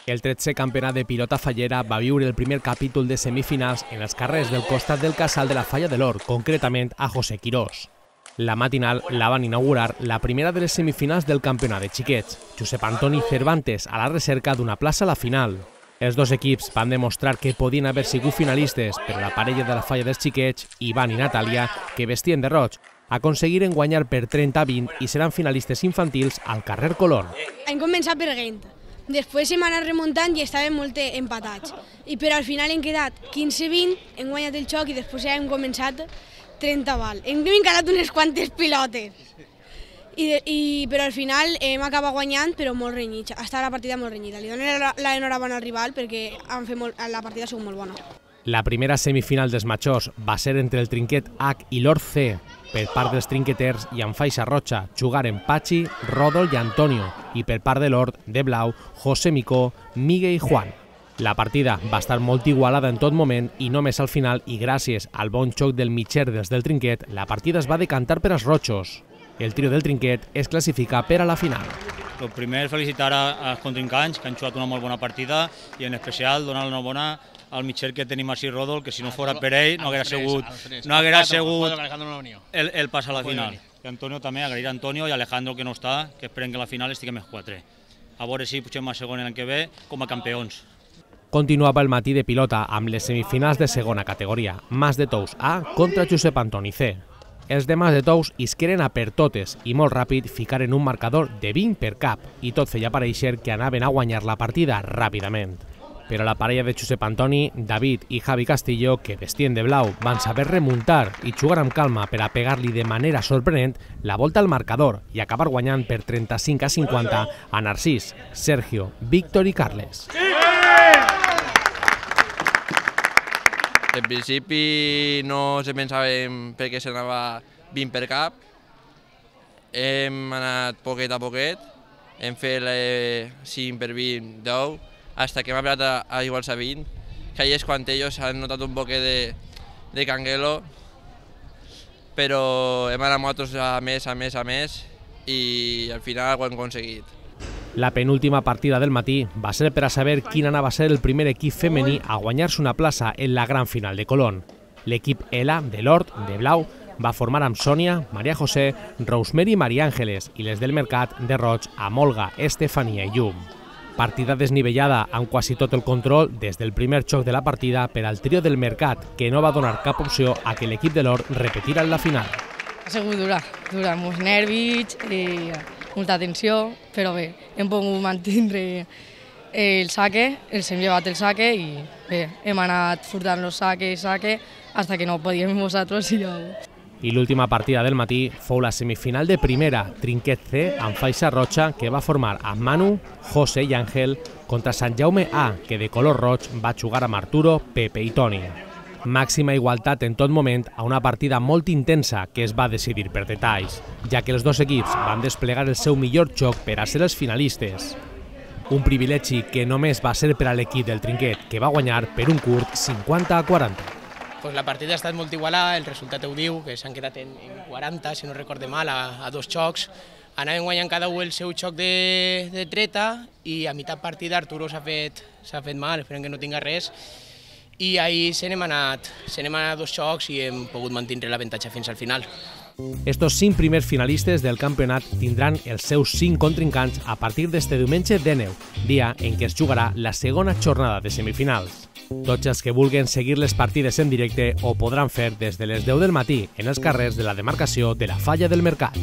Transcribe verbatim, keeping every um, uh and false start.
El tretzè campionat de pilota fallera va viure el primer capítol de semifinals en els carrers del costat del casal de la Falla de l'Hort, concretament a José Quirós. La matinal la van inaugurar la primera de les semifinals del campionat de xiquets, Josep Antoni Cervantes a la recerca d'una plaça a la final. Els dos equips van demostrar que podien haver sigut finalistes, però la parella de la Falla dels xiquets, Ivan i Natàlia, que vestien de roig, aconseguiren guanyar per trenta a vint i seran finalistes infantils al carrer Colón. Hem començat per Gent, després hem anat remuntant i estàvem molt empatats, I però al final hem quedat quinze a vint, hem guanyat el xoc i després ja hem començat trenta val. Hem encarat unes quantes pilotes, I, i, però al final hem acabat guanyant, però molt renyit, ha estat la partida molt renyida. Li dono l'enhorabona al rival perquè han fet molt, la partida ha sigut molt bona. La primera semifinal dels majors va ser entre el trinquet H i l'Hort C. Per part dels trinqueters i amb faixa roja jugaren Pachi, Rodol i Antonio, i per part de l'Hort, de blau, José Micó, Migue i Juan. La partida va estar molt igualada en tot moment i només al final, i gràcies al bon xoc del mitger dels del trinquet, la partida es va decantar per als rojos. El trio del trinquet es classifica per a la final. El primer, felicitar als contrincants que han jugat una molt bona partida i en especial donar l'enhorabona al mitger que tenim així, Rodol, que si no fos per ell no haguera sigut, no haguera sigut el, el pas a la final. I Antonio també, agrair a Antonio i Alejandro que no està, que esperem que a la final estiguem els quatre. A veure si pugem a segon l'any que ve com a campions. Continuava el matí de pilota amb les semifinals de segona categoria, Mas de Tous A contra Josep Antoni C. Els de Mas de Tous isqueren a per totes i molt ràpid ficaren un marcador de vint per cap i tot feia pareixer que anaven a guanyar la partida ràpidament. Però la parella de Josep Antoni, David i Javi Castillo, que vestien de blau, van saber remuntar i jugar amb calma per a pegar-li de manera sorprenent la volta al marcador i acabar guanyant per trenta-cinc a cinquanta a Narcís, Sergio, Víctor i Carles. En principi no se pensàvem perquè s'anava vint per cap, hem anat poquet a poquet, hem fet cinc per vint, deu, hasta que hem arribat a, a iguals a vint, que ahí és quan ells han notat un poquet de, de canguelo, però hem anat nosaltres a més, a més, a més, i al final ho hem aconseguit. La penúltima partida del matí va ser per a saber quin anava a ser el primer equip femení a guanyar-se una plaça en la gran final de Colón. L'equip Ela, de l'Hort, de blau, va formar amb Sònia, Maria José, Rosemary i Maria Àngeles, i les del Mercat, de roig, amb Olga, Estefania i Llum. Partida desnivellada amb quasi tot el control des del primer xoc de la partida per al trio del Mercat, que no va donar cap opció a que l'equip de l'Hort repetira en la final. Ha sigut dura, dura, molts nervis, eh, molta tensió, però bé, hem pogut mantenir el saque, els hem llevat el saque i bé, hem anat furtant els saques, saque, fins que no podíem nosaltres i ja... I l'última partida del matí fou la semifinal de primera, Trinquet C, amb faixa roja, que va formar amb Manu, José i Àngel, contra Sant Jaume A, que de color roig va jugar amb Arturo, Pepe i Toni. Màxima igualtat en tot moment a una partida molt intensa que es va decidir per detalls, ja que els dos equips van desplegar el seu millor joc per a ser els finalistes. Un privilegi que només va ser per a l'equip del Trinquet, que va guanyar per un curt cinquanta a quaranta. Pues la partida ha estat molt igualada, el resultat ho diu, que s'han quedat en quaranta, si no recorde mal, a, a dos xocs. Anàvem guanyant cada un el seu xoc de, de treta i a meitat partida Arturo s'ha fet, s'ha fet mal, esperem que no tinga res. I ahir se n'hem anat, se n'hem anat dos xocs i hem pogut mantenir l'avantatge fins al final. Estos cinc primers finalistes del campionat tindran els seus cinc contrincants a partir d'este diumenge dènou, dia en què es jugarà la segona jornada de semifinals. Tots els que vulguin seguir les partides en directe ho podran fer des de les deu del matí en els carrers de la demarcació de la Falla del Mercat.